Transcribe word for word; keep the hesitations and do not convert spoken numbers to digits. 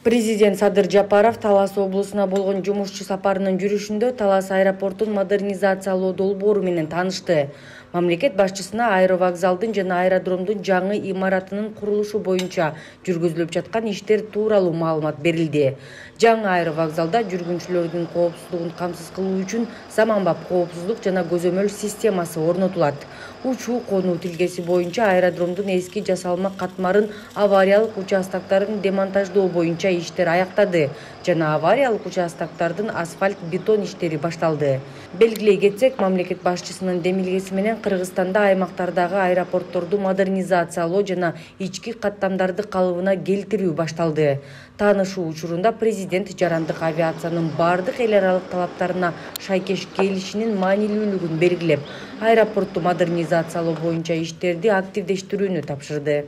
Президент Садыр Жапаров Талас облусуна болгон жумушчу сапарынын жүрүшүндө Талас аэропортун модернизациялоо долбоору менен таанышты. Мамлекет башчысына аэровокзалдын жана аэродромдун жаңы имаратынын курулушу боюнча жүргүзүлүп жаткан иштер тууралуу маалымат берилди. Жаңы аэровокзалда жүргүнчүлөрдүн коопсуздугун камсыз кылуу үчүн заманбап коопсуздук жана көзөмөл системасы орнотулат. Учуу конуу тилгеси боюнча аэродромдун эски жасалма катмарын авариялык участоктарын демонтаждоо боюнча иштер аяктады жана авариялык участоктардын асфальт бетон иштери башталды. Белгилей кетсек, мамлекет башчысынын демилгеси менен Кыргызстанда аймактардагы аэропортторду модернизациялоо жана ички каттамдарды калыбына келтирүү башталды. Таанышуу учурунда президент жарандык авиациянын бардык эл аралык талаптарына шайкеш келишинин маанилүүлүгүн белгилеп, аэропортту модернизациялоо боюнча иштерди активдештирүүнү тапшырды.